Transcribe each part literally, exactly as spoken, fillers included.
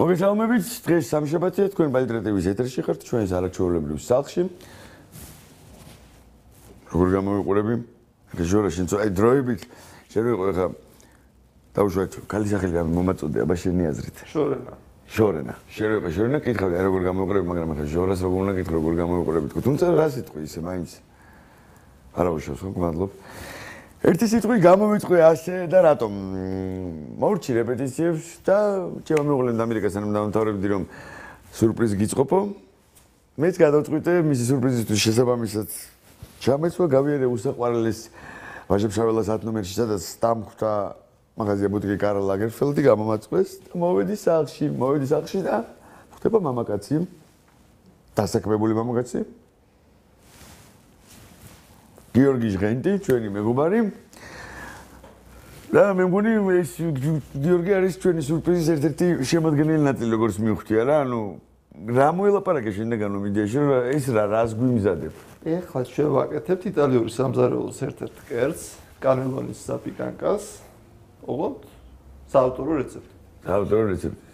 მოგესალმებით, დღეს სამშაბათია, თქვენ ბალტრეტების ეთერში ხართ, ჩვენს არაჩვეულებრივ სახლში. როგორ გამოვიყურები? ჟორა, შენ აი დროებით შევიყო ხა დავუშვათ, ქალის სახელი რამე მომაწოდე, აბა შენი აზრით. შორენა. შორენა. შევიყო შორენა, კითხავდი, აი როგორ გამოვიყურები, მაგრამ ხა ჟორას როგორ უნდა კითხო, როგორ გამოვიყურები თქო. თუმცა რა სიტყვი ისე მაინც. არა უშავს ხო, მადლობ. ერთი სიტყვი გამოვიწყე ასე და რატომ მოვრჩი რეპეტიციებს და ჩემო მეუღლემ ამერიკასთან დამთავრებდი რომ სიურპრიზი გიწყობო. მეც გადავწყვიტე მისი სიურპრიზისთვის შესაბამისად ჩამეცვა გავიარე უსაყვარლეს ვაჟებშაველას ათ ნომერში სადაც დამხვდა მაღაზია ბუტიკი კარლ ლაგერფელდი გამომაწყვეს და მოვედი სახლში, მოვედი სახლში და ხდება მამაკაცი დასაქმებული მამაკაცი გიორგი ჟღენტი, ჩვენი მეგობარი. და მე მგონი ეს გიორგი არის ჩვენი სიურპრიზის ერთ-ერთი შემადგენელი ნაწილი, როგორც მივხვდი არა, ანუ რა მოელაპარაკე შენდაგან მიდიაში, რომ ეს რა რას გვიმზადებ. ეხლა ჩვენ ვაკეთებთ იტალიური სამზარეულოს ერთ-ერთ კერძს, კანელონის საპიკანკას. ოღონდ საავტორო რეცეპტი. საავტორო რეცეპტი.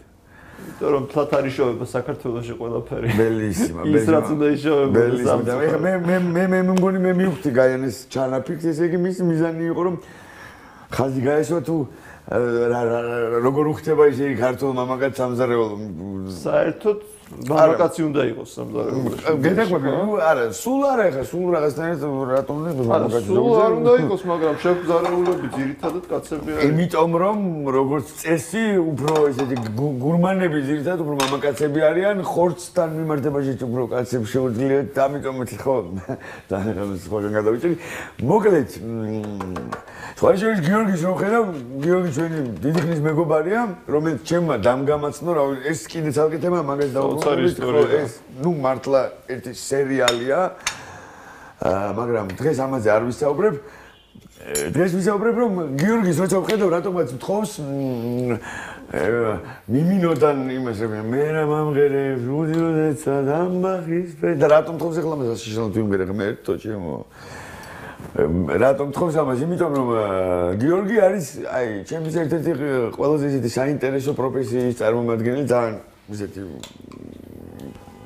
იმიტომ რომ თათარი შოვება საქართველოში ყველაფერი. ბელისიმა, ის რაც უნდა იშოვება. ბელისიმა. მე მე მე მე მგონი მე მივხვდი გაიანეს ჩანაფიქს, ესე იგი მის მიზანი იყო რომ ხაზი გაესვა თუ როგორ უხდება ისე ქართულ მამაკაც სამზარეულო. საერთოდ მამაკაცი უნდა იყოს სამზარეულოში. გეთაქვები, არა, სულ არა ხა, სულ რაღაცნაირად რატომ მამაკაცი. სულ არ უნდა იყოს, მაგრამ შემზარეულები ძირითადად კაცები არიან. იმიტომ რომ როგორც წესი, უფრო ესეთი გურმანები ძირითადად უფრო მამაკაცები არიან, ხორცთან მიმართებაში უფრო კაცებს შეუძლიათ, ამიტომ ხო, და სხვაგან გადავიჭრი. მოკლედ, სხვა შორის გიორგის რო ხედავ, გიორგი ჩვენი დიდი ხნის მეგობარია, რომელიც ჩემმა დამგამაცნო, რა ეს კიდე ცალკე თემა მაგას დავუწყობთ, ეს ნუ მართლა ერთი სერიალია. მაგრამ დღეს ამაზე არ ვისაუბრებ. დღეს ვისაუბრებ, რომ გიორგის როცა ვხედავ, რატომაც მთხოვს მიმინოდან იმას რომ მე რა მომღერებ, რუდიოდეცა დამბახის და რატომ თხოვს ახლა მას შეშალოთ ვიმღერე მე ერთო ჩემო. რატომ თხოვს ამას? იმიტომ რომ გიორგი არის აი ჩემთვის ერთ-ერთი ყველაზე ისეთი საინტერესო პროფესიის წარმომადგენელი, ძალიან ისეთი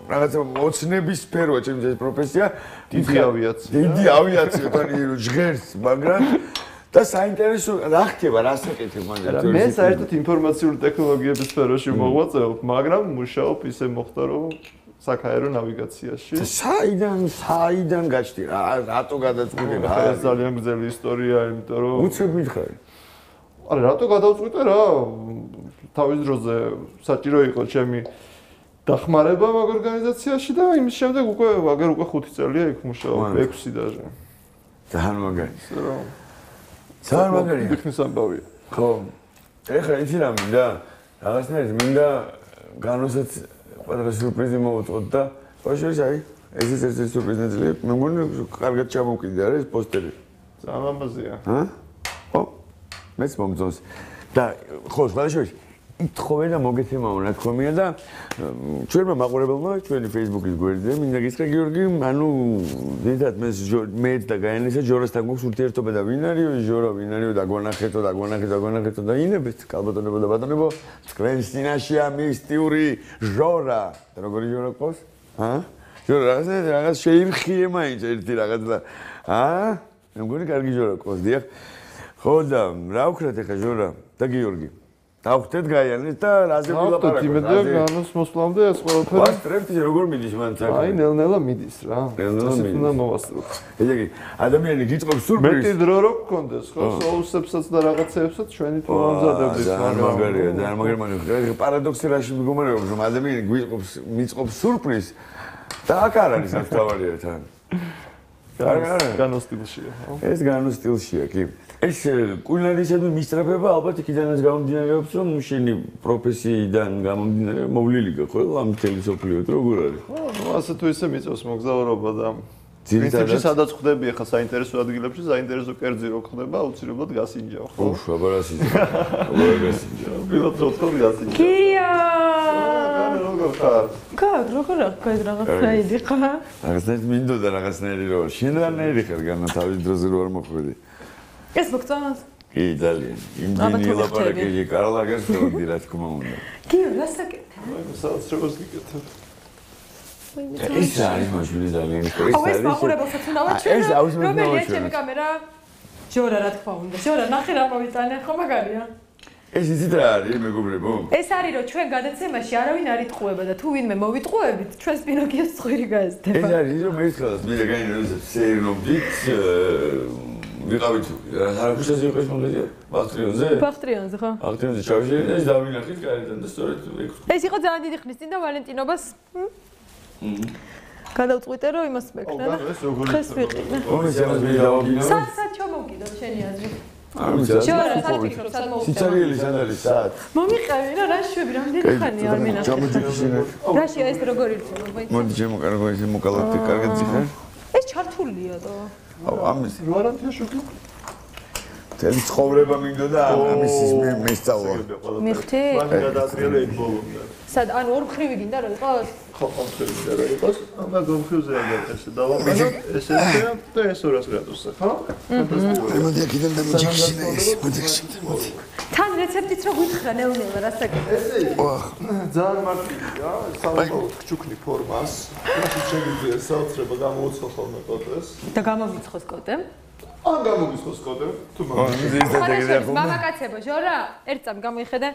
რაღაცა ოცნების სფეროა ჩემთვის ეს პროფესია, დიდი ავიაცია. დიდი ავიაცია თან ჟღერს, მაგრამ და საინტერესო რა ხდება, რას ეკეთებ მანდ? მე საერთოდ ინფორმაციული ტექნოლოგიების სფეროში მოღვაწეობ, მაგრამ მუშაობ ისე მოხდა რომ საქაერო ნავიგაციაში. საიდან, საიდან გაჩდი რა, რატო გადაწყვიტე რა? ეს ძალიან გრძელი ისტორია, იმიტომ რომ უცებ მითხარი. არა, რატო გადავწყვიტე რა? თავის დროზე საჭირო იყო ჩემი დახმარება მაგ ორგანიზაციაში და იმის შემდეგ უკვე აგერ უკვე ხუთი წელია იქ მუშაობ, ექვსი დაჟე. ძალიან მაგარი. რა. ძალიან მაგარია. იქნის ამბავია. ხო. ეხლა იცი რა მინდა? რაღაცნაირად მინდა განვასაც პატარა სიურპრიზი მოვუწყოთ და შეიძლება აი ეს ის ერთ-ერთი სიურპრიზი ნაწილია. მე მგონი კარგად ჩამოვკიდე არა ეს პოსტერი. ძალიან ამაზია. ჰა? ხო. მეც მომწონს. და ხო, შეიძლება ითხოვე და მოგეცემაო რა თქომია და ჩვენმა მაყურებელმა ჩვენი Facebook-ის გვერდზე მინდა გითხრა გიორგი, ანუ დიდად მე მე და გაიანესა ჟორასთან გვაქვს ურთიერთობა და ვინ არისო ჟორო, ვინ არისო დაგვანახეთო, დაგვანახეთო, დაგვანახეთო და ინებეთ კალბატონებო და ბატონებო, თქვენ წინაშეა მისტიური ჟორა. და როგორი ჟორა ყავს? ჰა? ჟორა რაღაცა რაღაც შეირხიე მაინც ერთი რაღაც და ჰა? მე მგონი კარგი ჟორა ყავს, დიახ. ხო და რა ვქრათ ახლა ჟორა და გიორგი? დავხდეთ გაიანეს და რაზე ვილაპარაკოთ? იმედია განოს მოსვლამდე ეს ყველაფერი. ვასწრებთ როგორ მიდის მან საქმე? აი ნელ-ნელა მიდის რა. ნელ-ნელა მიდის. უნდა მოვასწროთ. ესე იგი, ადამიანი გიწყობს სიურპრიზს. მეტი დრო რო გქონდეს, ხო, სოუსებსაც და რაღაცეებსაც ჩვენი თუ მომზადებდით. ძალიან მაგარია, ძალიან მაგარი. პარადოქსი რაში მდგომარეობს, რომ ადამიანი გვიწყობს, მიწყობს სიურპრიზს და აქ არ არის ასთავარია თან. განოს სტილშია, ხო? ეს განოს სტილშია, კი. ეს კულინარიისადმი მისწრაფება ალბათ იქიდანაც გამომდინარეობს, რომ შენი პროფესიიდან გამომდინარე მოვლილი ხო ამ მთელი სოფლიოთ როგორ არის? ხო, ну ასე თუ ისე მიწევს მოგზაურობა და ძირითადად სადაც ხდები ახლა საინტერესო ადგილებში, საინტერესო კერძი რო ხდება, აუცილებლად გასინჯავ, ხო? უშ, აბა რა სინჯავ. აბა გასინჯავ. ბილოთ რო თქო გასინჯავ. კირია! როგორ ხარ? გა, როგორ ახლა რაღაცნაირი ხარ? რაღაცნაირი მინდოდა რაღაცნაირი რო. შენ რანაირი ხარ განა თავის დროზე რო არ მოხვედი? ეს მოგწონს? კი, ძალიან. იმდენი ლაპარაკი კარლაგას ხოდი რა თქმა უნდა. გიო, რასაკეთებ? აი, საოცრებას გიკეთებ. ეს არის მოშული ძალიან ის ხო, ეს მაყურებელსაც უნდა ვაჩვენო. ეს აუცილებლად რომელია ჩემი კამერა? ჟორა რა თქმა უნდა. ჟორა, ნახე რა მოვიტანე, ხო მაგარია? ეს იცით რა არის, მეგობრებო? ეს არის რომ ჩვენ გადაცემაში არავინ არ იტყუება და თუ ვინმე მოვიტყუებით, ჩვენს პინოკიოს ცხვირი გაეზდება. ეს არის რომ ერთხელაც მე განირო სერნობდით ვიყავით არაფერზე იყოს მომდეზე ბაქტრიონზე? ბაქტრიონზე ხო? ბაქტრიონზე ჩავშერეთ და ის დავინახეთ გარედან და სწორედ ეგ. ეს იყო ძალიან დიდი ხნის წინ და ვალენტინობას გადავწყვიტე რომ იმას მეკნა და ხეს ვიყიდე. ომეს ამას მე დავაგინო. სად სად ჩამოვკიდოთ შენი აზრი? ამის ჟორა, სად ფიქრობ, სად მოვუწევ? სიცარიელი სად არის საათ? მომიყევი რა, რა შვები, რამდენი ხანია არ მინახე. ჩამოჯიქიშინე. რაშია ეს როგორ ირჩევა, ვაი? მოდი ჩემო კარგო ესე მოკალათი კარგად ძიხარ. ეს ჩართულია და აუ ამის ვარანტია შუქი? თელი ცხოვრება მინდოდა ამის ის მე მესწავლა. მიხთი? მან გადაატრიალა ეგ ბოლომდე. სად ანუ ორ მხრივი გინდა რომ იყოს? ხო, ხომხრივი და იყოს. ამა გომხრივზე აგერ ესე დავაყენო, ესე და ეს ორას გრადუსზე, ხო? ფანტასტიკური. მოდი აქედან დამოჯიქიშინე ეს, მოდი მოდი. თან რეცეპტიც რო გითხრა ნელ-ნელა რასაკეთე? ესე ძალიან მარტივია, საუბრობთ ჩუქნი ფორმას. რაში შეგვიძლია საოცრება გამოუცხო ხოლმე კოტეს. და გამომიცხოს კოტე? ან გამოგიცხოს კოტე, თუ მაგას მამაკაცებო, ჟორა, ერთ წამ გამოიხედე.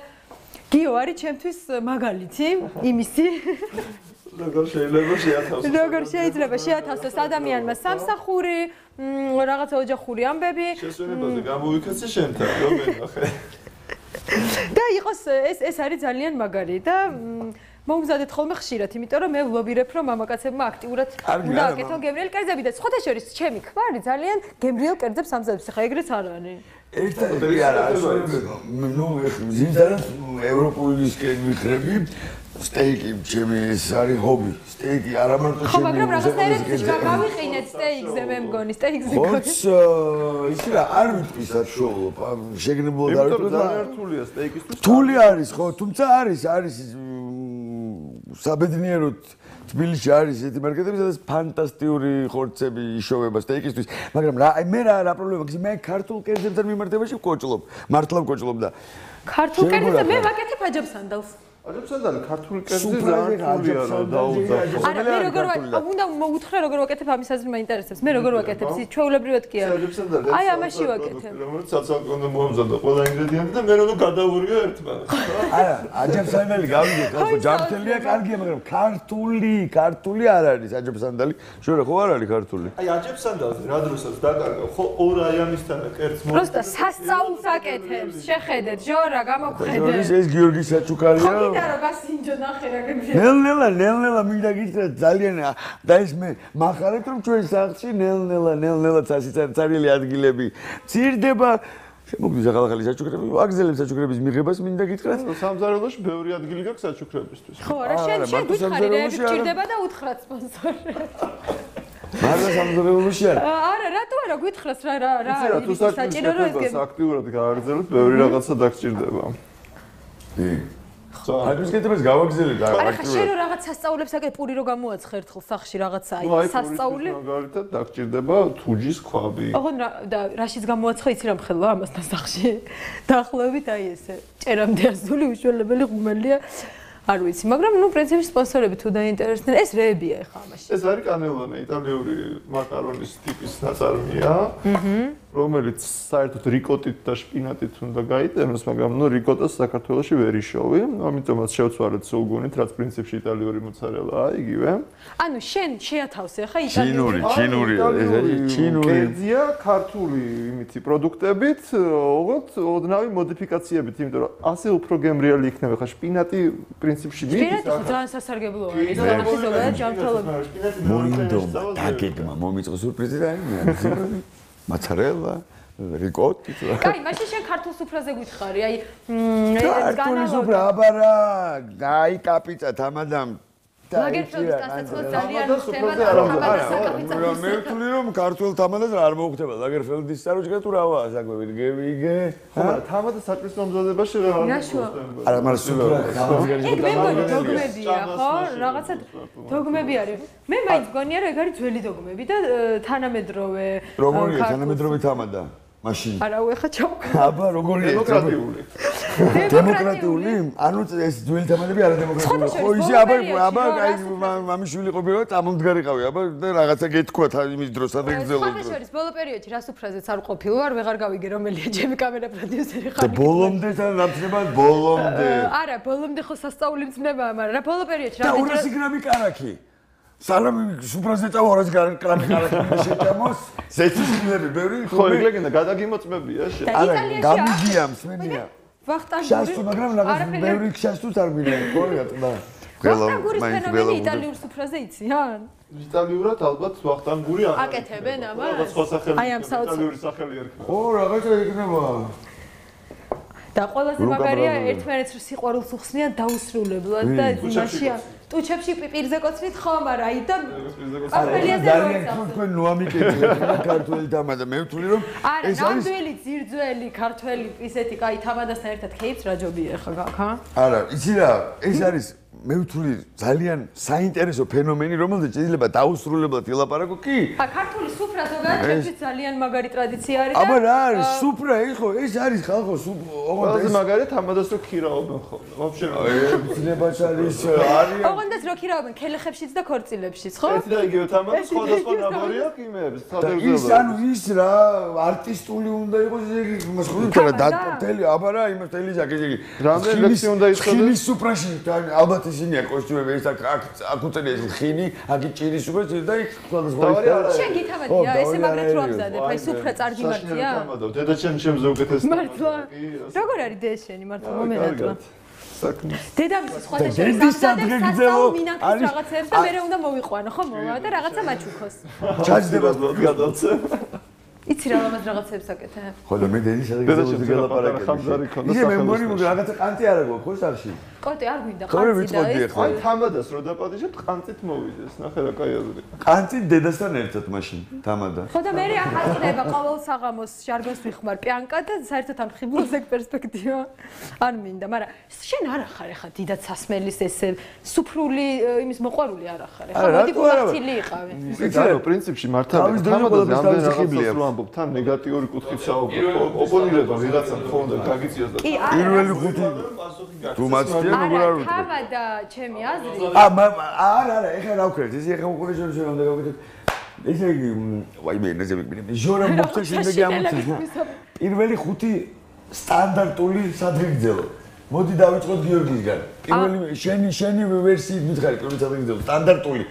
გიო არის ჩემთვის მაგალითი, იმისი. როგორ შეიძლება შეათავსოს? როგორ შეიძლება შეათავსოს ადამიანმა სამსახური, რაღაცა ოჯახური ამბები. შესვენებაზე გამოვიქცე შენთან, რომ მენახე. და იყოს ეს ეს არის ძალიან მაგარი და მომზადეთ ხოლმე ხშირად, იმიტომ რომ მე ვლობირებ რომ მამაკაცებმა აქტიურად უნდა აკეთონ გემრიელ კერძები და სხვათა შორის ჩემი ქმარი ძალიან გემრიელ კერძებს ამზადებს, ხა ეგრეც არ არის. ერთადერთი არა არის ნუ ზინდარად ევროპულისკენ მიხრები სტეიკი ჩემი ეს არის ჰობი სტეიკი არა მარტო ჩემი ხო მაგრამ რაღაცნაირად გავიყინეთ სტეიკზე მე მგონი სტეიკზე ხოც ის რა არ ვიტყვი საშუალო შეგნებულად არ ვიტყვი და რთულია სტეიკისთვის რთული არის ხო თუმცა არის არის საბედნიეროდ თბილისში არის ესეთი მარკეტები, სადაც ფანტასტიკური ხორცები იშოვება სტეიკისთვის, მაგრამ რა, აი მე რა რა პრობლემა გქონდა, მე ქართულ კერძებთან მიმართებაში ვკოჭლობ, მართლა ვკოჭლობ და ქართულ კერძებზე მე ვაკეთებ აჯაბსანდალს. აჯაბსანდალი ქართული კერძი ძალიან რთულია რა დაუძახო. არა, მე როგორ უნდა მოუთხრა როგორ ვაკეთებ ამის აზრი მაინტერესებს. მე როგორ ვაკეთებ, ჩვეულებრივად კი არა. აი ამაში ვაკეთებ. რომელიც საცალკონო მომზადდა ყველა ინგრედიენტი და მე რომ გადავურგე ერთმანეთს. არა, აჯაბსანდალი გავიგეთ, ხო ჯამთელია კარგია, მაგრამ ქართული, ქართული არ არის აჯაბსანდალი. შორე ხო არ არის ქართული? აი აჯაბსანდალზე რა დროსაც დაკარგავ, ხო ორ აი ამისთან კერძს მო. პროსტა სასწაულს აკეთებს, შეხედეთ, ჟორა გამოგხედე. ეს გიორგი საჩუქარია. მინდა რომ გასინჯო ნახე რა გემრიელი. ნელ-ნელა, ნელ-ნელა მინდა გითხრა ძალიან და ეს მე მახარეთ რომ ჩვენ სახლში ნელ-ნელა, ნელ-ნელა ცარიელი ადგილები ცირდება. შემოგდის ახალ-ახალი საჩუქრები, აგზელებ საჩუქრების მიღებას მინდა გითხრათ. სამზარეულოში ბევრი ადგილი გაქვს საჩუქრებისთვის. ხო, რა შენ შენ გითხარი რა გჭირდება და უთხრათ სპონსორი. მაგრამ სამზარეულოში არა. არა, რატო არა გითხრას რა რა რა თუ საჭირო რომ ეს აქტიურად გააგრძელოთ, ბევრი რაღაცა დაგჭირდება. კი. ხო, აი გეთებს გავაგზელებ და არა, ხა შენ რო რაღაც სასწაულებს აკეთებ, პური რო გამოაცხე ერთხელ სახში რაღაცა აი სასწაული. მაგალითად დაგჭირდება თუჯის ქვაბი. ოღონ და რაშიც გამოაცხე იცი რა მხელვა ამასთან სახში. დაახლოებით აი ესე. ჭერამდე ასული უშველებელი ღუმელია. არ ვიცი, მაგრამ ნუ პრინციპში სპონსორები თუ დაინტერესდნენ, ეს რეებია ხა ამაში. ეს არის კანელონე, იტალიური მაკარონის ტიპის ნაწარმია, რომელიც საერთოდ რიკოტით და შპინატით უნდა გაიტანოს, მაგრამ ნუ რიკოტას საქართველოში ვერ იშოვი, ამიტომაც შევცვალეთ სულგუნით, რაც პრინციპში იტალიური მოცარელაა, იგივე. ანუ შენ შეათავსე ხა იტალიური. ჩინური, ჩინური, ეს არის ჩინური. კერძია ქართული იმითი პროდუქტებით, ოღონდ ოდნავი მოდიფიკაციებით, იმიტომ რომ ასე უფრო გემრიელი იქნება ხა შპინატი პრინციპში მიდის. შპინატი ხო ძალიან სასარგებლოა, ის რაღაცა ზოგადად ჯანმრთელობა. მოინდომა დაგეგმა მომიწყო სურპრიზი და აი მოცარელა რიკოტი. კაი, მაშინ შენ ქართულ სუფრაზე გითხარი, აი ეს ქართული სუფრა აბარა, აი კაპიცა თამადამ ლაგერფელდის დასაწყო ძალიან ხდება და თამადას მე ვთვლი რომ ქართულ თამადას არ მოუხდება ლაგერფელდის საროჭგა თუ რავაა საკვები გევიგე ხო თამადა საჭმლის მომზადებაში რა არა მაგრამ სუფრა ეგ მე მგონი დოგმებია ხო რაღაცა დოგმები არის მე მაინც მგონია რომ ეგ არის ძველი დოგმები და თანამედროვე როგორია თანამედროვე თამადა მაშინ. არა, უეხა ჩავკ. აბა, როგორია? დემოკრატიული. დემოკრატიული? ანუ ეს ძველი თამადები არა დემოკრატიული. ხო, ისე აბა, აბა, აი მამიშვილი ყოფილა, წამომდგარიყავი, აბა და რაღაცა გეთქვა იმის დროს, სადღაც გძელო. სხვა შორის ბოლო პერიოდში რას უფრაზეც არ ყოფილი ვარ, ვეღარ გავიგე რომელია ჩემი კამერა პროდიუსერი ხარ. და ბოლომდე თან რამცნება ბოლომდე. არა, ბოლომდე ხო სასწაული მძნება, მაგრამ რა ბოლო პერიოდში რა და ორასი გრამი კარაქი. სალამი სუპრაზე წავა ორასი გრამი კარაქი შეჭამოს. ზეთისმილები ბევრი. ხო, ეგ ლეგენდა გადაგიმოწმებია შე. არა, გამიგია მსმენია. ვახტანგური. შასტუ, მაგრამ რაღაც ბევრი შასტუს არ გვინდა, ხო რა თქმა. ვახტანგურის ფენომენი იტალიურ სუფრაზე იციან? იტალიურად ალბათ ვახტანგური არ აკეთებენ ამას? რაღაც სხვა სახელი. აი ამ საოცარ იტალიური სახელი ერქვა. ო, რაღაცა იქნება. და ყველაზე მაგარია ერთმანეთს სიყვარულს უხსნიან დაუსრულებლად და იმაშია ტუჩებში პიპირზე კოცნით ხო, მაგრამ აი და პასპელიაზე ძალიან თქვენ ნოამიკეთეთ ქართველი თამადა მე ვთვლი რომ ეს არის ნამდვილი ძირძველი ქართველი პისეთი კაი თამადასთან ერთად ქეიფს რა ჯობია ხა გაქა? არა, იცი რა, ეს არის მე ვთვლი ძალიან საინტერესო ფენომენი, რომელზეც შეიძლება დაუსრულებლად ილაპარაკო კი? ა ქართული სუფრა ზოგადად ჩემთვის ძალიან მაგარი ტრადიცია არის და აბა რა არის სუფრა, ეხო ეს არის ხალხო ოღონდ ეს მაგარი თამადას რო ქირაობენ ხოლმე. ვაფშე ცნებაც არის არის ოღონდ რო ქირაობენ ქელეხებშიც და ქორწილებშიც, ხო? ეს და იგივე თამადა სხვადასხვა ნაბორია კიმებს, ის ანუ ის რა არტისტული უნდა იყოს ეს მას ხო და დატელი აბა რა იმას თელი ჟაკეტი იგი რამდენი ლექსი უნდა იცოდეს ხილის სუფრაში ალბათ ისინია კოსტიუმები ეს აქ აქ უწელია ხინი აქ ჭირის უკვე და იქ სხვადასხვა შენ გითამადია ესე მაგრად რო ამზადებ აი სუფრა წარგი მარტია დედა ჩემ ჩემზე უკეთეს მართლა როგორ არის დე შენი მართლა მომენატლა საქმე დედამისი სხვათა შორის ამზადებს სასწაულ მინანქის რაღაცებს და მერე უნდა მოვიყვანო ხო მოვა და რაღაცა მაჩუქოს ჩაჯდება გადაცე იცი რა ამას რაღაცებს აკეთებ ხო და მე დედის სადღაც გელაპარაკე ხამზარი ქონდა ისე მე მგონი რომ რაღაცა ყანწი არ აქვს ხო სარში კოტე არ გვინდა ყანწი და ეს აი თამადას რო დაპატიჟებთ ყანწით მოვიდეს ნახე რა კაი აზრი ყანწი დედასთან ერთად მაშინ თამადა ხო და მე აქ აწყდება ყოველ საღამოს ჟარგოს ვიხმარ პიანკა და საერთოდ ამ ხიბლოს ეგ პერსპექტივა არ მინდა მაგრამ შენ არ ახარ ახლა დიდად სასმელის ესე სუფრული იმის მოყვარული არ ახარ ახლა მოდი გულახთილი იყავი იცი რა პრინციპში მართალია თამადაზე ამდენ რაღაცას რო ამბობ თან ნეგატიური კუთხით საუბრობ ოპონირება ვიღაცამ ხონდა გაგიწიოს და პირველი ხუთი თუ მაცდია როგორ არ ვიტყვი თამადა ჩემი აზრი ა არა არა ეხლა რა ვქრეთ ეს ეხლა უკვე შენ შენ უნდა გავაკეთოთ ესე იგი ვაი მე ნაზე მეკითხები ჟორა მოხდა შემდეგი ამოწესა პირველი ხუთი სტანდარტული სადღეგრძელო მოდი დავიწყოთ გიორგისგან პირველი შენი შენი ვერსიით მითხარი პირველი სადღეგრძელო სტანდარტული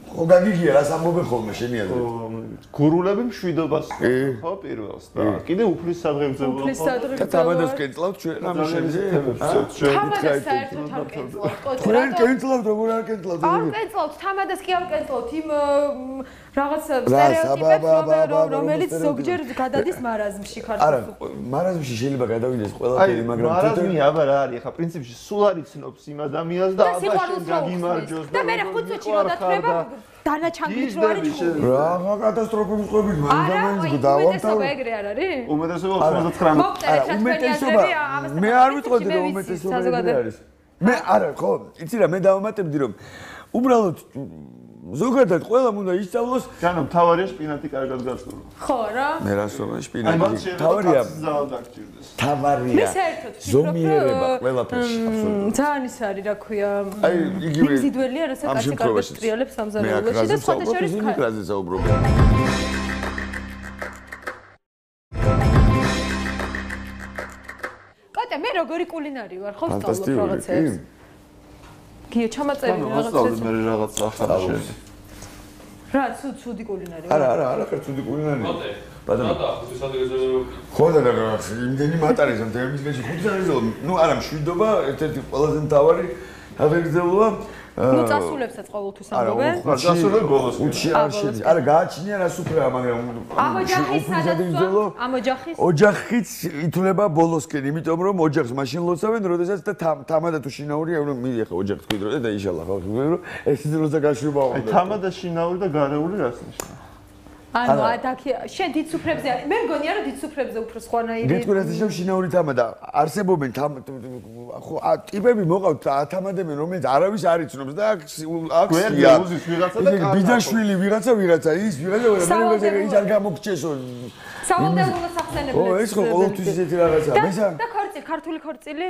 ხო გაგიგია რას ამბობენ ხოლმე შენი აზრით გურულები მშვიდობას ხო პირველს და კიდე უფლის სადღეგრძელო უფლის სადღეგრძელო და თამადას კენწლავთ ჩვენ ამ შენზე თამადას საერთოდ არ კენწლავთ ჩვენ კენწლავთ როგორ არ კენწლავთ არ კენწლავთ თამადას კი არ კენწლავთ იმ რაღაც სტერეოტიპებს რომელიც ზოგჯერ გადადის მარაზმში ქართულში არა მარაზმში შეიძლება გადავიდეს ყველაფერი მაგრამ მარაზმი აბა რა არის ხა პრინციპში სულ არ იცნობს იმ ადამიანს და აბა შენ გაგიმარჯოს და მე ხუთ წუთში რო დათრება დანაჩანგით რო არის ჩხუბი რა კატასტროფების ყოფილი მაგდამენს დავამთავრე ეგრე არ არის უმეტესობა ოცდაოთხ არა უმეტესობა მე არ ვიტყოდი რომ უმეტესობა ეგრე არის მე არა ხო იცი რა მე დავამატებდი რომ უბრალოდ ზოგადად ყველამ უნდა ისწავლოს განო თავარია შპინატი კარგად გაწურო ხო რა მე რას ვამბობ შპინატი თავარია თავარია მე საერთოდ ზომიერება ყველაფერში აბსოლუტურად ძალიან ის არის რა ქვია აი იგივე მიზიდველია რასაც კაცი კარგად ტრიალებს სამზარეულოში და სხვათა შორის მიკრაზე საუბრობ კატე მე როგორი კულინარი ვარ ხო ვსწავლობ რაღაცებს გიო ჩამაწერი რაღაცებს მე რაღაც ახალი შენ რა ცუ ცუდი კულინარი არა არა არა ხარ ცუდი კულინარი ბატონო და ხუთი სადღეგრძელო ხო და რაღაც იმდენი მატარეს ამ თემისგანში ხუთი სადღეგრძელო ნუ არა მშვიდობა ერთ-ერთი ყველაზე მთავარი სადღეგრძელოა ნუ წასულებსაც ყოველთვის ამბობენ არა წასულებ ბოლოს უჩი არ შედი არა გააჩნია რა სუფრაა მაგრამ ამოჯახის სადაც ამოჯახის ოჯახიც ითვლება ბოლოსკენ იმიტომ რომ ოჯახს მაშინ ლოცავენ როდესაც და თამადა თუ შინაურია რომ მიდი ახლა ოჯახს თქვიდრო და იშალა ხო რომ ეს როცა გაშვება აი თამადა შინაური და გარეული რას ნიშნავს ანუ ადაკი შენ დიდ სუფრებზე მე მგონია რომ დიდ სუფრებზე უფრო სხვანაირი გეტყვი რა შინაური თამა და არსებობენ ხო ტიპები მოყავთ ათამადებენ რომელიც არავის არ იცნობს და აქ გვერდზე უზის ვიღაცა და ბიძაშვილი ვიღაცა ვიღაცა ის ვიღაცა ვიღაცა ის არ გამოგჩესო სავალდებულო სახსენებლებს ო ეს ხო ყოველთვის ისეთი რაღაცაა მესა და ქორწილი ქართული ქორწილი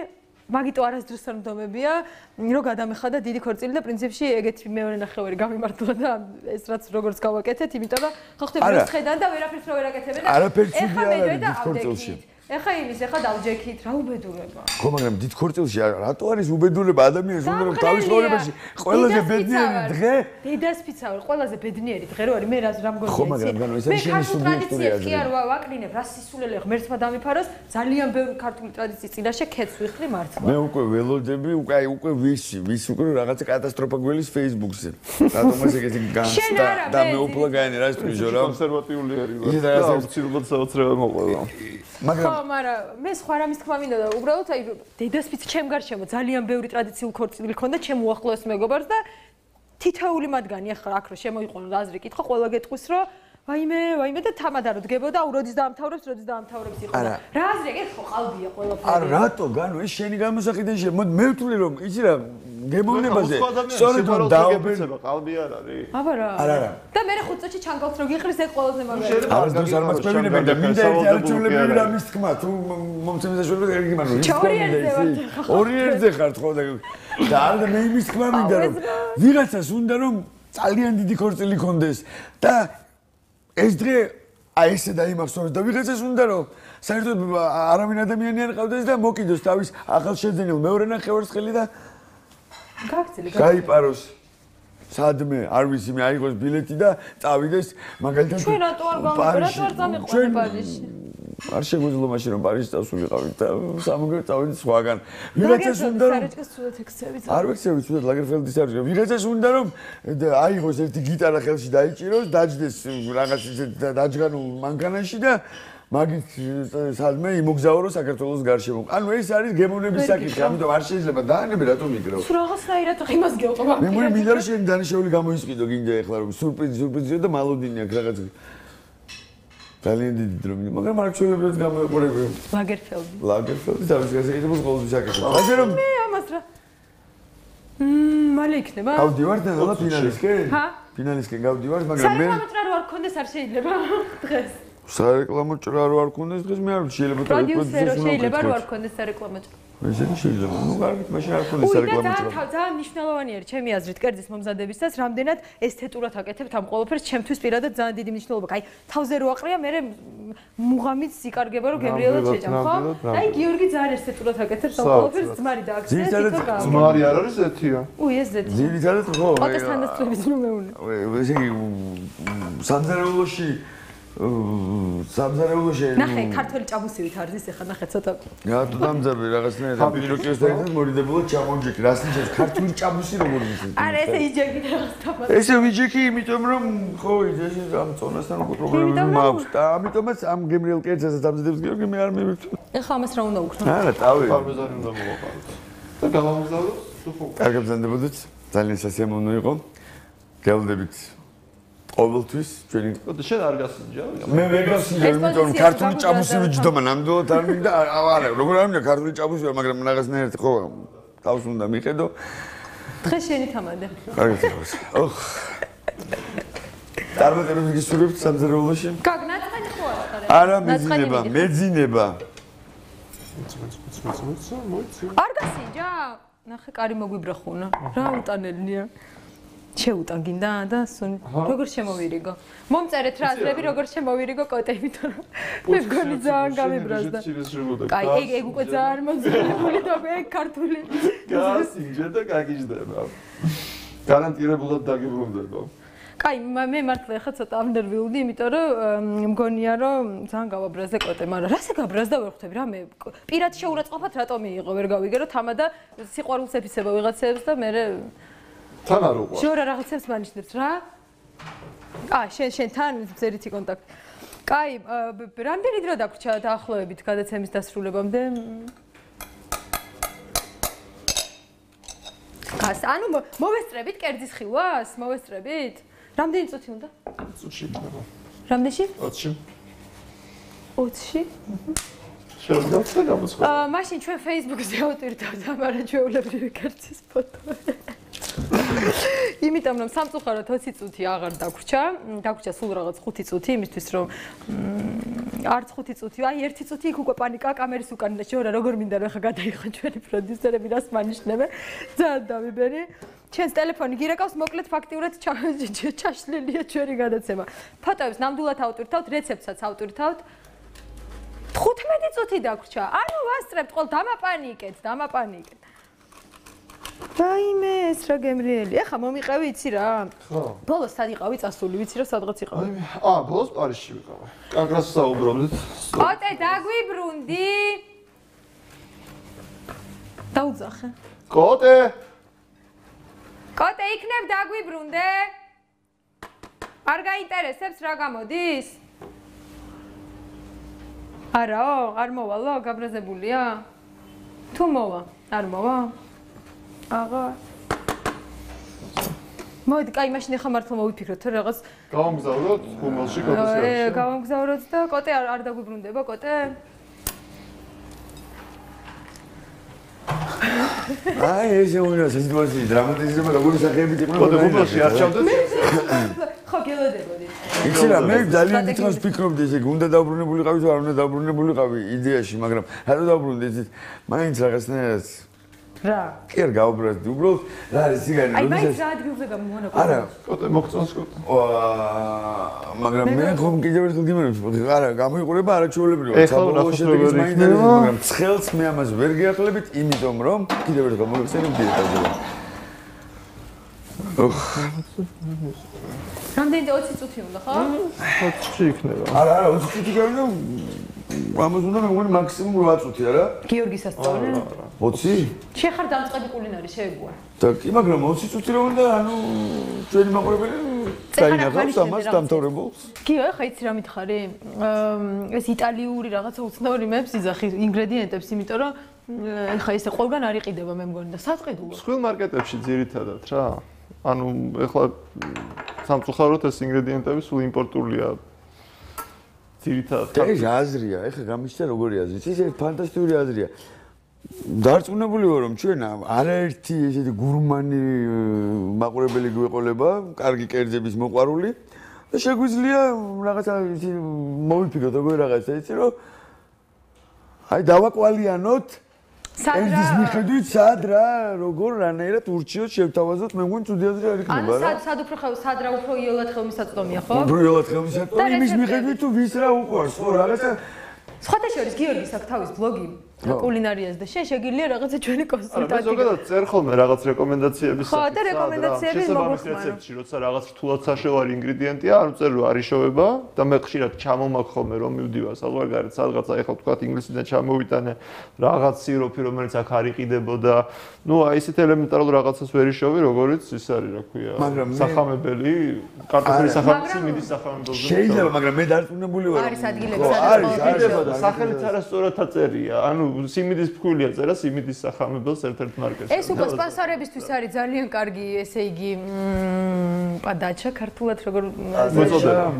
მაგიტო არასდროს არ მდგომებია რომ გადამეხადა დიდი ქორწილი და პრინციპში ეგეთი მეორე ნახევარი გამიმართლა და ეს რაც როგორც გავაკეთეთ იმიტომ რომ ხო ხდება რომ ხედან და ვერაფერს რო ვერაკეთებენ და არაფერი ცუდი არ არის დიდ ქორწილში ეხა იმის ეხა დავჯექით რა უბედურება ხო მაგრამ დიდ ქორწილში რატო არის უბედურება ადამიანს უნდა რომ თავის ცხოვრებაში ყველაზე ბედნიერი დღე დედასფიცავი ყველაზე ბედნიერი დღე რო არის მე რა რა მგონია ხო მაგრამ განო ეს არის შენი სუბიექტური აზრი კი არ ვაკრინებ რა სისულელე ღმერთმა დამიფაროს ძალიან ბევრი ქართული ტრადიციის წინაშე ქეთს ვიხდი მართლა მე უკვე ველოდები უკვე აი უკვე ვისი ვის უკვე რაღაცა კატასტროფა გველის Facebook-ზე რატომაც ეგეთი განცდა და მე უფლა გაენე რა ისტორიო რა კონსერვატიული არის და აუცილებლად საოცრება მოყვა მაგრამ ხო, მაგრამ მე სხვა რამის თქმა მინდა და უბრალოდ აი დედასფიც ჩემ გარშემო ძალიან ბევრი ტრადიციული ქორწილი ქონდა ჩემ უახლოეს მეგობარს და თითოეული მათგანი ახლა აქ რო შემოიყვანო აზრი კითხვა ყველა გეტყვის რომ ვაიმე, ვაიმე და თამადა რო დგებოდა, როდის დაამთავრებს, როდის დაამთავრებს იყო. რა აზრი ეგ ხო ყალბია ყველაფერი. არა, რატო, განო, ეს შენი გამოსაყიდე შე, მოდი მე ვთვლი რომ იცი რა, გემოვნებაზე. სწორედ რომ დააუბერება ყალბი არ არის. აბა რა. არა, არა. და მე ხუთ წუთში ჩანგალს რო გიხრის ეგ ყველაზე მაგარია. არც დროს არ მაწყობინებენ და მინდა ერთი არჩევლები რა მის თქმა, თუ მომცემის საშუალება ეგ იმანო. ორი ერთზე ხართ ხო და და არა და მე იმის თქმა მინდა რომ ვიღაცას უნდა რომ ძალიან დიდი ქორწილი კონდეს და ეს დღე აი ესე დაიმახსოვროს და ვიღაცას უნდა რომ საერთოდ არავინ ადამიანი არ ყავდეს და მოკიდოს თავის ახალშეძენილ მეორე ნახევარს ხელი და გაგცილი გაიპაროს სადმე არ ვიცი მე აიღოს ბილეთი და წავიდეს მაგალითად ჩვენ რატო არ გავიყო რატო არ წამიყვანე პარიზში არ შეგვიძლია მაშინ რომ პარიზში წავსულიყავით და სამგერ წავიდით სხვაგან ვიღაცას უნდა რომ სარეჭკეს სულად ექცევით არ ვექცევით სულად ლაგერფელდის არის ვიღაცას უნდა რომ აიღოს ერთი გიტარა ხელში დაიჭიროს დაჯდეს რაღაც ისეთ დაჯგანულ მანქანაში და მაგით სადმე იმოგზაურო საქართველოს გარშემო. ანუ ეს არის გემოვნების საკითხი, ამიტომ არ შეიძლება დაანებე რატომ იგროვ. სულ რაღაცნაირად იმას გეუყვა. მე მგონი მინდა რომ შენ დანიშნული გამოისყიდო გინდა ეხლა რომ სურპრიზი სურპრიზია და მალოდინი აქვს რაღაც ძალიან დიდი დრო, მაგრამ არ შეიძლება გამოიყურებო. ლაგერფელდი. ლაგერფელდი თავის გასაკეთებელს ყოველთვის აკეთებს. ასე რომ მე ამას რა მმ მალე იქნება? გავდივარ და და ფინალისკენ? ჰა? ფინალისკენ გავდივარ, მაგრამ მე საერთოდ რა არ ქონდეს არ შეიძლება დღეს. სარეკლამო ჭრა რო არ ქონდეს დღეს მე არ შეიძლება და პროდიუსერო შეიძლება რო არ ქონდეს სარეკლამო ჭრა. ესე შეიძლება. ნუ კარგით, მაშინ არ ქონდეს სარეკლამო ჭრა. და ძალიან მნიშვნელოვანი არის ჩემი აზრით კერძის მომზადებისას, რამდენად ესთეტურად აკეთებთ ამ ყველაფერს, ჩემთვის პირადად ძალიან დიდი მნიშვნელობა. აი, თავზე რო აყრია, მე მუღამით იკარგება რომ გემრიელად შეჭამ, ხო? აი, გიორგი ძალიან ესთეტურად აკეთებს ამ ყველაფერს, ძმარი დააქცია, თვითონ გავა. ძმარი არ არის ზეთია? უი, ეს ზეთი. ძირითადად ხო. ოთას თანდასწრების ნუ მეუნე. ესე იგი სამზარეულოში სამზარეულოში ნახე ქართველი ჭაბუსივით არის ეხა ნახე ცოტა რა თუ დამძაბი რაღაცნაირად პიროკეს და ერთად მორიდებულად ჩამონჯექი რას ნიშნავს ქართული ჭაბუსი როგორ იცით არა ესე იჯექი რაღაც თამაში ესე ვიჯექი იმიტომ რომ ხო ეს ამ წონასთან უკვე პრობლემები მაქვს და ამიტომაც ამ გემრიელ კერძასაც ამზადებს გიორგი მე არ მივიქცე ეხა ამას რა უნდა უქნო არა ტავი პარმეზანი უნდა მოვაყაროთ და გავამგზავროთ თუ ხო კარგად ბრძანდებოდეთ ძალიან სასიამოვნო იყო გელდებით ყოველთვის ჩვენი და შენ არ გასინჯა? მე ვერ გასინჯა, იმიტომ რომ ქართული ჭაბუსი ვიჯდომა ნამდვილად არ მინდა, არა, როგორ არ მინდა ქართული ჭაბუსი, მაგრამ რაღაცნაირად ხო თავს უნდა მიხედო. დღეს შენი თამადე. კარგად ხარ. ოხ. წარმატებები გისურვებთ სამზარეულოში? გაგნაწყენი ხო არა? არა, მეძინება, მეძინება. არ გასინჯა? ნახე, კარი მოგვიბრა ხუნა. რა უტანელია? შეუტან გინდა და როგორ შემოვირიგო. მომწერეთ რა აზრები როგორ შემოვირიგო კოტები თორე მე მგონი ძალიან გამიბრაზდა. აი ეგ ეგ უკვე ძალიან მომზადებული და მე ქართული. გასინჯა და გაგიჟდება. გარანტირებულად დაგიბრუნდება. კაი მე მართლა ახლა ცოტა ამნერვიულდი, იმიტომ რომ მგონია რომ ძალიან გავაბრაზდა კოტე, მაგრამ რასე გაბრაზდა ვერ ხვდები რა მე პირად შეურაცხყოფად რატომ მიიღო ვერ გავიგე რომ თამადა სიყვარულს ეფიცება ვიღაცებს და მე თან არ უყვა. შორა რაღაცებს მანიშნებს რა? აა შენ შენ თან ზერითი კონტაქტი. კაი, რამდენი დრო დაგვრჩა დაახლოებით გადაცემის დასრულებამდე? გას, ანუ მოვესწრებით კერძის ხილვას? მოვესწრებით? რამდენი წუთი უნდა? წუთში იქნება. რამდენში? ოცში. ოცში? შევდავთ და გამოცხადე. აა, მაშინ ჩვენ Facebook-ზე ავტვირთავთ ამარა ჩვეულებრივი კაცის ფოტო. იმიტომ რომ სამწუხაროდ ოცი წუთი აღარ დაგვრჩა, დაგვრჩა სულ რაღაც ხუთი წუთი იმისთვის რომ არც ხუთი წუთი, აი ერთი წუთი იქ უკვე პანიკა კამერის უკან შეურა როგორ მინდა რომ ხა გადაიხო ჩვენი პროდიუსერები რას მანიშნებენ. ძალიან დავიბერი. ჩვენს ტელეფონი გირეკავს, მოკლედ ფაქტიურად ჩაშლილია ჩვენი გადაცემა. ფოტოებს ნამდვილად ავტვირთავთ, რეცეპტსაც ავტვირთავთ. თხუთმეტი წუთი დაგვრჩა. ანუ ვასწრებთ ყოველ დამაპანიკეთ, დამაპანიკეთ. დაიმე ეს რა გემრიელი. ეხა მომიყევი იცი რა? ხო. ბოლოს სად იყავი წასული, ვიცი რა სადღაც იყავი. აა, ბოლოს პარიზში ვიყავი. კანგრას საუბრობდით. ოტე დაგვიბრუნდი. დაუძახე. კოტე. კოტე იქნებ დაგვიბრუნდე. არ გაინტერესებს რა გამოდის? არაო, არ მოვალო, გაბრაზებულია? თუ მოვა, არ მოვა? აღა. მოდი, კაი, მაშინ ახლა მართლა მოვიფიქროთ, თუ რაღაც გავამგზავროთ ხუმელში კოტეს ე, გავამგზავროთ და კოტე არ არ დაგვიბრუნდება, კოტე? აი ესე უნდა სიტუაცია დრამატიზება როგორი სახეებით იყო. კოტე ხუმელში არ ჩავდეთ? ხო, გელოდებოდით. იცი რა, მე ძალიან დიდხანს ვფიქრობდი ესე, უნდა დაუბრუნებულიყავი თუ არ უნდა დაუბრუნებულიყავი იდეაში, მაგრამ რატო დაუბრუნდი იცით? მაინც რაღაცნაირად რა? კი არ გაუბრუნდი, უბრალოდ რა არის სიგარი, აი, მაინც როდესაც რა ადგილზე გამომონა? არა, კოტე მოგწონს კოტე. აა, მაგრამ მე ხომ კიდევ ერთხელ გიმეორებ, არა, გამოიყურება არაჩვეულებრივად. ეხლა საბოლოო ნახოთ შედეგიც როგორ მაინც იქნება. არის, მაგრამ ცხელს მე ამას ვერ გეახლებით, იმიტომ რომ კიდევ ერთხელ მოგეხსენებ დიეტაზე. ოხ, რამდენი ოცი წუთი უნდა, ხო? ოცში იქნება. არა, არა, ოცი წუთი გავიდა. ამას უნდა მეგონი მაქსიმუმ რვა წუთი, არა? გიორგის ასწავლე? ოცი? შეხარ დამწყები კულინარი შეეგუა. და კი, მაგრამ ოცი წუთი რომ უნდა, ანუ ჩვენი მაყურებელი წაინახავს ამას დამთავრებულს. კი, ახლა იცი რა მითხარი? ეს იტალიური რაღაცა უცნაური მეებს იძახი ინგრედიენტებს, იმიტომ რომ ახლა ესე ყველგან არ იყიდება მე მგონი და საწყიდულო. სხვილ მარკეტებში ძირითადად რა. ანუ ეხლა სამწუხაროდ ეს ინგრედიენტები სულ იმპორტულია. ძირითადად. ეს აზრია, ეხლა გამიშთა როგორი აზრი. ის ფანტასტიკური აზრია. დარწმუნებული ვარ რომ ჩვენ არაერთი ესეთი გურმანი მაყურებელი გვეყოლება, კარგი კერძების მოყვარული და შეგვიძლია რაღაცა ისი მოვიფიქროთ როგორი რაღაცა იცი რომ აი დავაკვალიანოთ კერძის მიხედვით სად რა როგორ რანაირად ურჩიოთ შევთავაზოთ მე მგონი ცუდი აზრი არ იქნება რა. ანუ სად სად უფრო ხელ სად რა უფრო იოლად ხელმისაწვდომია ხო? უფრო იოლად ხელმისაწვდომია იმის მიხედვით თუ ვის რა უყვარს ხო რაღაცა სხვათა შორის გიორგის აქვს თავის ბლოგი კულინარიას და შე შეგიძლია რაღაცა ჩვენი მე კონსულტანტი. ზოგადად წერ ხოლმე რაღაც რეკომენდაციების ხო, და რეკომენდაციები მოგხმარო. რეცეპტში როცა რაღაც რთულად საშოვარი ინგრედიენტია, არ უწერ რომ არ იშოვება და მე ხშირად ჩამომაქ ხოლმე რომ მივდივარ საზღვარგარეთ სადღაცა ეხლა თქვა ინგლისიდან ჩამოვიტანე რაღაც სიროფი რომელიც აქ არ იყიდებოდა. ნუ აი ისეთ ელემენტარულ რაღაცას ვერ იშოვი, როგორიც ის არის, რა ქვია, სახამებელი, კარტოფილის სახამებელი, სიმინდის სახამებელი. შეიძლება, მაგრამ მე დარწმუნებული ვარ. არის ადგილები სადაც იყიდება და სახელიც არასწორად აწერია. ანუ სიმინდის ფქვილია წერა სიმინდის სახამებელს ერთ-ერთ მარკეტში. ეს უკვე სპონსორებისთვის არის ძალიან კარგი, ესე იგი, პადაჩა ქართულად როგორ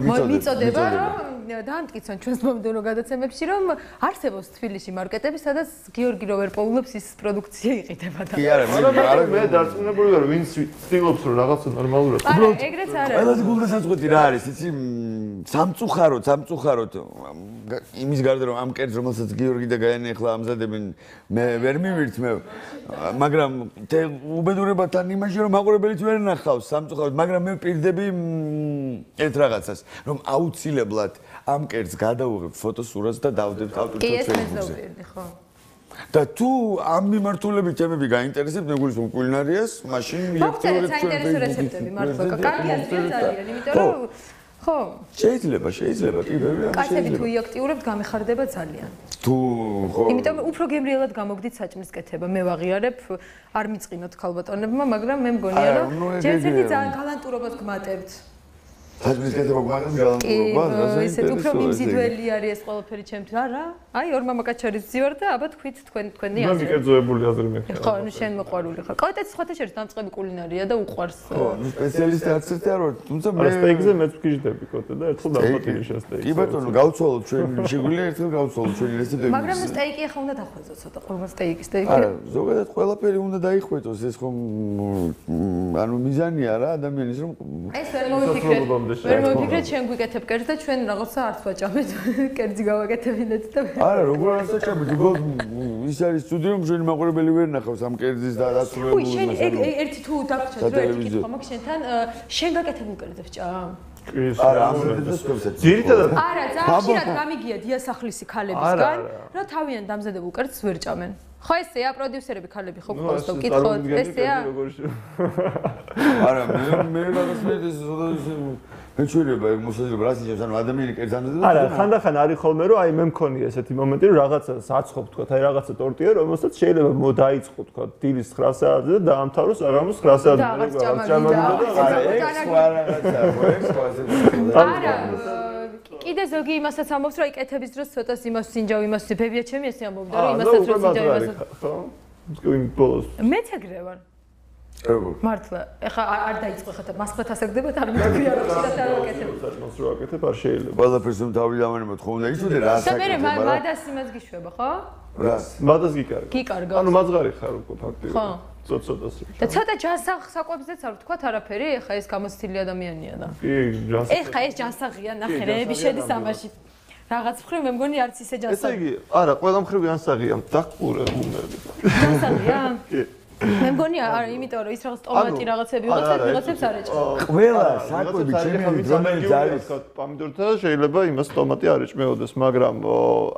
მიწოდება, რომ დაამტკიცონ ჩვენს მომდევნო გადაცემებში, რომ არსებობს თბილისში მარკეტები, სადაც გიორგი როვერპოულობს ის პროდუქცია იყიდება და. კი არა, არა მე დარწმუნებული ვარ, ვინც ცდილობს რომ რაღაცა ნორმალურად. არა, ეგრეც არა. ყველაზე გულდასაწყვეტი რა არის, იცი, სამწუხაროდ, სამწუხაროდ იმის გარდა რომ ამ კერძს რომელსაც გიორგი და გაიანი ახლა ამზადებენ, მე ვერ მივირთმევ, მაგრამ უბედურებათან იმაში რომ მაყურებელიც ვერ ნახავს სამწუხაროდ, მაგრამ მე ვპირდები ერთ რაღაცას, რომ აუცილებლად ამ კერძს გადავიღებ ფოტოსურათს და დავდებთ ავტორთა Facebook-ზე. ხო. და თუ ამ მიმართულებით თემები გაინტერესებთ, მეგულისხმობ კულინარიას, მაშინ მიექცევრებ ჩვენ საინტერესო რეცეპტები, მართლა კარგი აზრია ძალიან, იმიტომ რომ ხო. შეიძლება, შეიძლება, კი ბევრი ამას კაცები შეიძლება. თუ იაქტიურებთ, გამეხარდება ძალიან. თუ ხო. იმიტომ უფრო გემრიელად გამოგდით საჭმლის კეთება. მე ვაღიარებ, არ მიწყინოთ ქალბატონებმა, მაგრამ მე მგონია რომ ჯერ ერთი ძალიან გალანტურობას გმატებთ. საჭმლის კეთება გვაქვს გალანტურობა, ასე ისეთ უფრო მიმზიდველი არის ეს ყველაფერი ჩემთვის. არა, აი ორ მამაკაცშორის ვზივარ და აბა თქვით თქვენ თქვენი აზრი. მე მიკერძოებული აზრი მე. ხო, ნუ შენ მოყვარული ხარ. კოტეც სხვათა შორის დამწყები კულინარია და უყვარს. ხო, ნუ სპეციალისტი არც ერთი არ ვარ, თუმცა მე სტეიკზე მეც ვგიჟდები კოტე და ერთხელ დავხატილი შესტეიკს. კი ბატონო, გავცვალოთ ჩვენ შეგვიძლია ერთხელ გავცვალოთ ჩვენი რესეპტები. მაგრამ სტეიკი ახლა უნდა დახვეწო ცოტა ყურმა სტეიკი სტეიკი. არა, ზოგადად ყველაფერი უნდა დაიხვეწოს, ეს ხომ ანუ მიზანია რა ადამიანის რომ ეს ვერ მოვიფიქრეთ. ვერ მოვიფიქრეთ ჩვენ გვიკეთებ კერძს და ჩვენ რაღაცა არც ვაჭამეთ. კერძი გავაკეთებინეთ და არა, როგორ არ საჭამეთ, უბრალოდ ის არის სტუდიო რომ ჩვენი მაყურებელი ვერ ნახავს ამ კერძის და დაწურებულს. უი, შენ ეგ ერთი თუ დაგვრჩათ რომ ერთი კითხვა მაქვს შენთან, შენ გაკეთებულ კერძებს ჭამ? არა, ამ დროს ვქოსეთ. ძირითადად არა, ძალიან ხშირად გამიგია დიასახლისი ქალებისგან, რომ თავიანთ დამზადებულ კერძს ვერ ჭამენ. ხო ესეა პროდიუსერები ქალები ხო გყავს და ვკითხოთ, ესეა? არა, მე მე რაღაც მე ეს მეჩვენება ეგ მოსაძლებლობა რას ნიშნავს, ანუ ადამიანი კერძს ამზადებს? არა, ხანდახან არის ხოლმე რომ აი მე მქონია ესეთი მომენტი რომ რაღაცა საცხობ თქვა, აი რაღაცა ტორტია, რომელსაც შეიძლება მოდაიწყო თქვა დილის ცხრა საათზე და დაამთავროს აღამოს ცხრა საათზე. და რაღაც ჭამალი და არა, ეგ სხვა რაღაცა, ეგ სხვა. არა, კიდე ზოგი იმასაც ამბობს რომ აი კეთების დროს ცოტას იმას სინჯავ იმას ბებია ჩემი ესე ამბობდა რომ იმასაც რომ სინჯავ იმასაც ხო? მგონი ბოლოს. მეც ეგრე ვარ. როგორ? მართლა, ეხა არ დაიწყო ხა მასხლეთ ასაგდებათ არ მოგია რომ ცოტა არ ვაკეთებ. საჭმელს რო აკეთებ არ შეიძლება. ყველაფერს რომ თავი დავანებოთ ხო უნდა იცოდე რა და მე მადას იმას გიშვება ხო? რას? მადას გიკარგა. გიკარგა. ანუ მაძღარი ხარ უკვე ფაქტიურად. ხო. ცოტ-ცოტას. და ცოტა ჯანსაღ საკვებზეც არ ვთქვათ არაფერი, ეხა ეს გამოცდილი ადამიანია და. კი, ჯანსაღი. ეხა ეს ჯანსაღია, ნახე რეები შედის ამაში. რაღაც მხრივ მე მგონი არც ისე ჯანსაღი. ესე იგი, არა, ყველა მხრივ ჯანსაღია, დაკურე უნდები. ჯანსაღია? კი. მე მგონი არა, იმიტომ რომ ის რაღაც ტომატი რაღაცები ვიღაცებს ვიღაცებს არ ეჭყვა. ყველა საკვები ჩემი რომელიც არის პომიდორთა შეიძლება იმას ტომატი არ ეჭმეოდეს, მაგრამ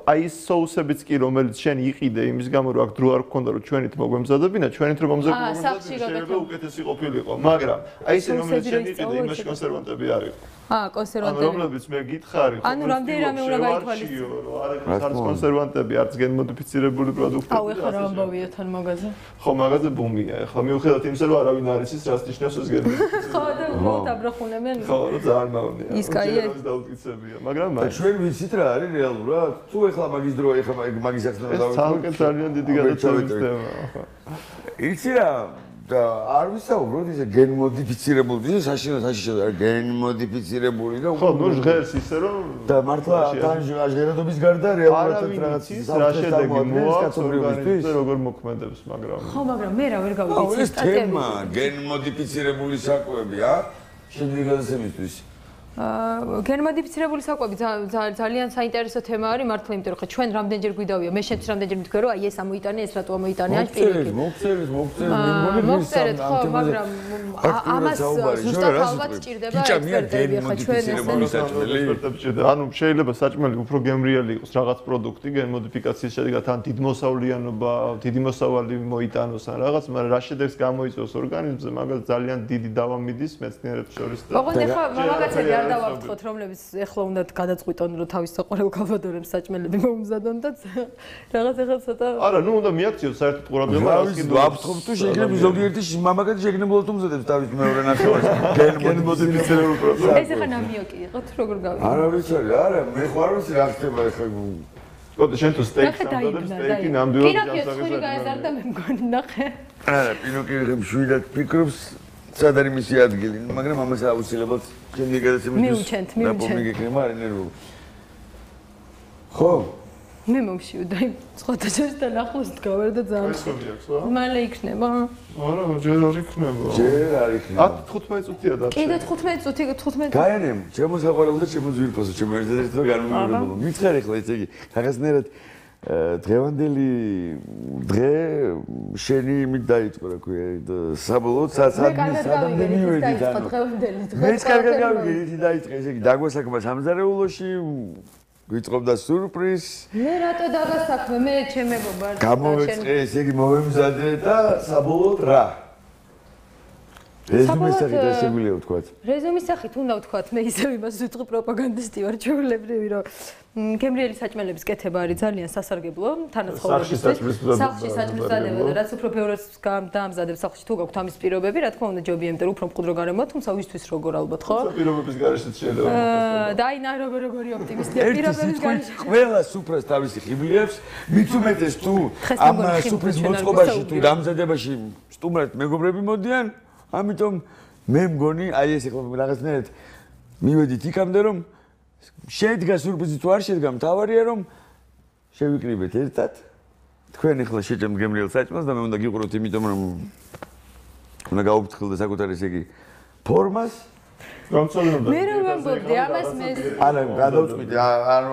აი ეს соуსებიც კი რომელიც შენ იყიდე იმის გამო რომ აქ დრო არ გქონდა რომ ჩვენით მოგვემზადებინა, ჩვენით რომ მომზადებინა შეიძლება უკეთესი ყოფილიყო, მაგრამ აი ეს რომელიც შენ იყიდე იმაში კონსერვანტები არის. აა, კონსერვანტები. ანუ რომლებიც მე გითხარი, ხო? ანუ რამდენი რამე უნდა გაითვალისწინო. არ არის კონსერვანტები, არც გენმოდიფიცირებული პროდუქტები. აუ, ეხლა რა ამბავია თან მაღაზია? ხო, მაღაზია ბუმია. ეხლა მიუხედავად იმისა, რომ არავინ არ იცის, რას ნიშნავს ეს გენმოდიფიცირება. ხო, და უბრალოდ აბრახუნებენ. ხო, რა ძალიან მავნია. ის კაია. ეს დაუწიცებია, მაგრამ და ჩვენ ვიცით რა არის რეალურად? თუ ეხლა მაგის დრო, ეხლა მაგის ახსნა დავიწყო. ეს ძალიან ძალიან დიდი გადაცემის თემაა, ხო. იცი რა და არ ვისაუბროთ ისე გენმოდიფიცირებული, ისე საშინო საშიშო გენმოდიფიცირებული და ხო, ნუ ჟღერს ისე რომ და მართლა თან ჟღერადობის გარდა რეალურად რაღაც რა შედეგი მოაქვს ორგანიზმზე როგორ მოქმედებს, მაგრამ ხო, მაგრამ მე რა ვერ გავიგე ეს სტატიები. ეს თემა გენმოდიფიცირებული საკვები, ა? შემდეგი გადაცემისთვის. აა გენმოდიფიცირებული საკვები ძალიან საინტერესო თემა არის მართლა, იმიტომ რომ ხა ჩვენ რამდენჯერ გვიდავია, მე შენც რამდენჯერ მითქვი რომ აი ეს ამოიტანე, ეს რატო ამოიტანე, ან პირიქით. მოგწერეთ, მოგწერეთ, მე მგონი მოგწერეთ, ხო, მაგრამ ამას ზუსტად ალბათ სჭირდება ექსპერტები, ხა ჩვენ ესე. ანუ შეიძლება საჭმელი უფრო გემრიელი იყოს რაღაც პროდუქტი გენმოდიფიკაციის შედეგად ან დიდმოსავლიანობა, დიდი მოსავალი მოიტანოს ან რაღაც, მაგრამ რა შედეგს გამოიწვევს ორგანიზმზე, მაგას ძალიან დიდი დავა მიდის მეცნიერებს შორის და ოღონდ ეხლა მამაკაცები არ დავაფრთხოთ, რომლებიც ეხლა უნდა გადაწყვიტონ, რომ თავის საყვარელ კალბადორებს საჭმელები მოუმზადონ და რაღაც ეხლა ცოტა არა, ნუ უნდა მიაქციოს საერთოდ ყურადღება რას კიდევ ვაფრთხობ თუ შეიძლება ზოგიერთი მამაკაცი შეგნებულად უმზადებს თავის მეორე ნახევარს გენმოდიფიცირებულ პროცესს. ეს ეხლა ნამიოკი იყო თუ როგორ გავიგე? არა ვიცი, არა, მე ხო არ ვიცი რა ხდება ეხლა. კოდე შენ თუ სტეიქს ამბობ სტეიქი ნამდვილად ჯანსაღია. პინოკიო ხული გაეზარდა მე მგონი ნახე. არა, პინოკიო მშვიდად ფიქრობს სად არის მისი ადგილი, მაგრამ ამას აუცილებლად ჩემი გადაცემისთვის მიუჩენთ, მიუჩენთ. მიგეკნება არ ენერგო. ხო? მე მომშივდა იმ სხვადასხვასთან ახლოს დგავარ და ძალიან მალე იქნება. არა, ჯერ არ იქნება. ჯერ არ იქნება. ათი თხუთმეტი წუთია და კიდე თხუთმეტი წუთი, თხუთმეტი. გაენემ, ჩემო საყვარელო და ჩემო ძვირფასო, ჩემო ერთადერთი და განმეორებელო. მითხარ ახლა ესე იგი, რაღაცნაირად დღევანდელი დღე შენი იმით დაიწყო რა ქვია საბოლოოდ სადმე სადამდე მივედით ანუ დღევანდელი დღე მეც კარგად გავიგე ისი დაიწყე ესე იგი დაგვასაქმე სამზარეულოში ვიწყობდა სურპრიზ მე რატო დაგასაქმე მე ჩემებობა გამოვეწყე ესე იგი მოვემზადე და საბოლოოდ რა რეზუმის სახით რა შეგვიძლია ვთქვათ? რეზუმის სახით უნდა ვთქვათ, მე ისევ იმას ვიტყვი პროპაგანდისტი ვარ ჩვეულებრივი, რომ გემრიელი საჭმელების კეთება არის ძალიან სასარგებლო თანაცხოვრებისთვის. სახლში საჭმელსადება და რაც უფრო ბევრად დაამზადებს სახლში თუ გაქვთ ამის პირობები, რა თქმა უნდა ჯობია, იმიტომ რომ უფრო მყუდრო გარემოა, თუმცა ვისთვის როგორ ალბათ, ხო? პირობების გარეშეც შეიძლება. და აი ნა როგორ როგორი ოპტიმისტია პირობების გარეშე. ყველა სუფრას თავისი ხიბლიებს, მით უმეტეს თუ ამ სუფრის მოწყობაში თუ დამზადებაში სტუმრად მეგობრები მოდიან, ამიტომ მე მგონი აი ეს ახლა რაღაცნაირად მივედით იქამდე რომ შედგა სურპრიზი თუ არ შედგა მთავარია რომ შევიკრიბეთ ერთად თქვენ ახლა შეჭამთ გემრიელ საჭმელს და მე უნდა გიყუროთ იმიტომ რომ უნდა გაუფრთხილდე საკუთარ ესე იგი ფორმას გამწოლინებდა მე რომ ვამბობდი ამას მე არა გადავწყვიტე არ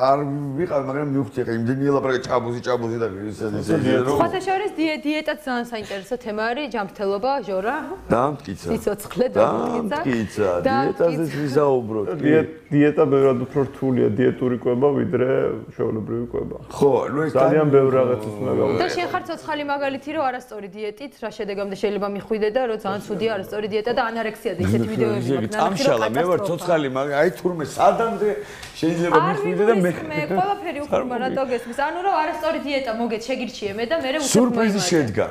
არ ვიყავ მაგრამ მივხვდი ახლა იმდენი ელაპარაკე ჭაბუზი ჭაბუზი და ისე ისე რომ ხოთა შორის დიეტაც ძალიან საინტერესო თემა არის ჯანმრთელობა ჟორა დამტკიცა სიცოცხლე დამტკიცა დიეტაზეც ვისაუბროთ დიეტა ბევრად უფრო რთულია დიეტური კვება ვიდრე ჩვეულებრივი კვება ხო ნუ ეს ძალიან ბევრ რაღაცას უნდა გავაკეთო და შენ ხარ ცოცხალი მაგალითი რომ არასწორი დიეტით რა შედეგამდე შეიძლება მიხვიდე და რომ ძალიან ცუდი არასწორი დიეტა და ანარექსია და ისეთი ვიდეოები ამშალა მე ვარ ცოცხალი მაგრამ აი თურმე სადამდე შეიძლება მიხვიდე და მე მე ყველაფერი უყურება რატო გესმის ანუ რომ არასწორი დიეტა მოგეთ შეგირჩიე მე და მე რე სურპრიზი შედგა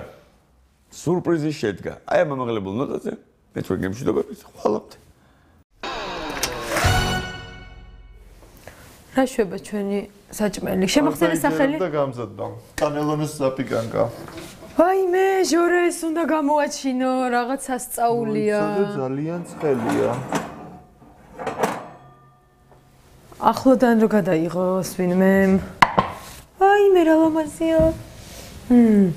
სურპრიზი შედგა აი ამ ამაღლებულ ნოტაზე მე თქვენ გემშვიდობებით ხვალამდე რა შვება ჩვენი საჭმელი შემახსენე სახელი და გამზადდა კანელონის ზაპიკანკა ვაიმე ჟორა ეს უნდა გამოაჩინო რაღაც სასწაულია ძალიან ცხელია ახლოდან რო გადაიღოს ვინმე ვაიმე რა ლამაზია მმ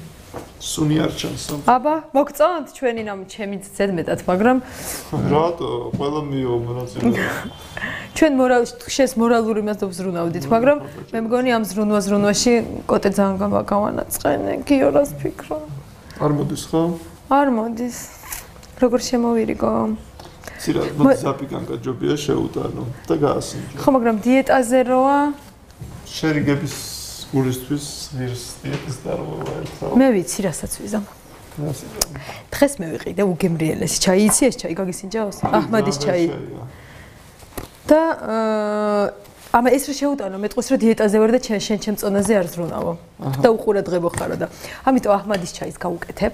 სუნი არ ჩანს აბა მოგწონთ ჩვენი ნამ ჩემი ზედმეტად მაგრამ რატო ყველა მიო მონაწილეობა ჩვენ შეს მორალური მას დავზრუნავდით მაგრამ მე მგონი ამ ზრუნვა ზრუნვაში კოტე ძალიან გავანაწყენე გიორას ფიქრო არ მოდის ხო არ მოდის როგორ შემოვირიგო ცირა მოდი ზაპიკანკა ჯობია შეუტანო და გაასინჯო ხო მაგრამ დიეტაზე როა შერიგების გულისთვის ღირს დიეტის დარღვევა ერთხელ მე ვიცი რასაც ვიზამ დღეს მე ვიყიდე უგემრიელესი ჩაი იცი ეს ჩაი გაგისინჯაოს აჰმადის ჩაი და ამა ეს რა შეუტანო მეტყვის რომ დიეტაზე ვარ და შენ ჩემ წონაზე არ ზრუნავო და უყურადღებო ხარო და ამიტომ აჰმადის ჩაის გავუკეთებ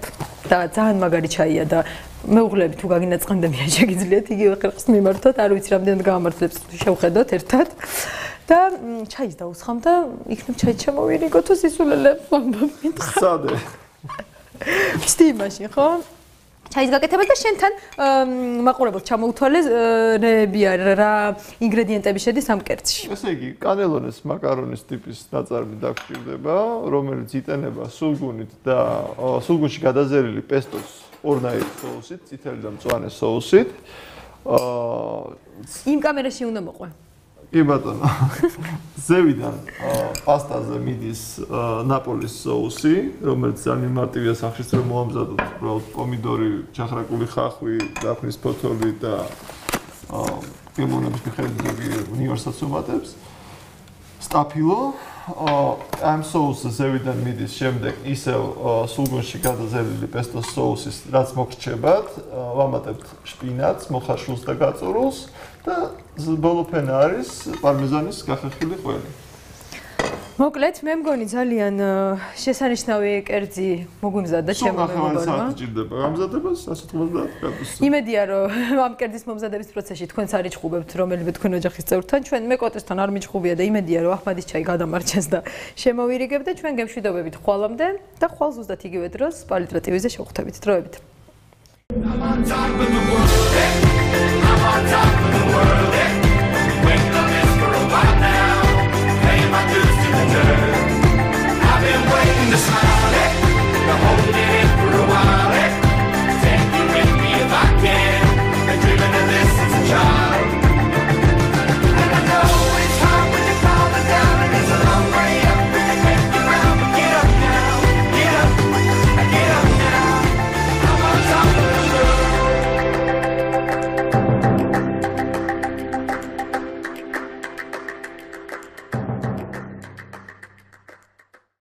და ძალიან მაგარი ჩაია და მეუღლები თუ გაგინაწყენდებიან შეგიძლიათ იგივე ხერხს მიმართოთ არ ვიცი რამდენად გამართლებს შევხედოთ ერთად და ჩაის დაუსხამ და იქნებ ჩაი შემოვირიგო თუ სისულელებს ვამბობ მითხარ სადე ვსდი მაშინ ხო ჩაის გაკეთებას და შენთან მაყურებელს ჩამოუთვალე რეები რა ინგრედიენტები შედის ამ კერძში. ესე იგი, კანელონეს მაკარონის ტიპის ნაწარმი დაგჭირდება, რომელიც იტანება სულგუნით და სულგუნში გადაზერილი პესტოს ორნაირი соусით, წითელი და მწვანე соусით. იმ კამერაში უნდა მოყვე. კი ბატონო. ზევიდან პასტაზე მიდის ნაპოლის соуსი, რომელიც ძალიან მარტივია სახშიც რომ მოამზადოთ, უბრალოდ პომიდორი, ჩახრაკული ხახვი, დაფნის ფოთოლი და ლიმონების მიხედვით უნივერსალს უმატებს. სტაფილო ამ соуსზე ზევიდან მიდის შემდეგ ისევ სულგუნში გადაზერილი პესტოს соуსის, რაც მოგრჩებათ, ვამატებთ შპინატს, მოხარშულს და გაწურულს. და ბოლოფენა არის პარმეზანის გახერხილი ყველი. მოკლედ, მე მგონი ძალიან შესანიშნავი კერძი მოგვიმზადა ჩემო მეგობრებო. საათი ჭირდება გამზადებას one ოცდაათი გრადუსზე. იმედია, რომ ამ კერძის მომზადების პროცესში თქვენც არ იჭხუბებთ რომელიმე თქვენ ოჯახის წევრთან, ჩვენ მე კოტესთან არ მიჭხუბია და იმედია, რომ აჰმადის ჩაი გადამარჩენს და შემოვირიგებ და ჩვენ გემშვიდობებით ხვალამდე და ხვალ ზუსტად იგივე დროს პალიტრა ტივიზე შევხვდებით. დროებით. I'm on top of the world. I'm on top of the world.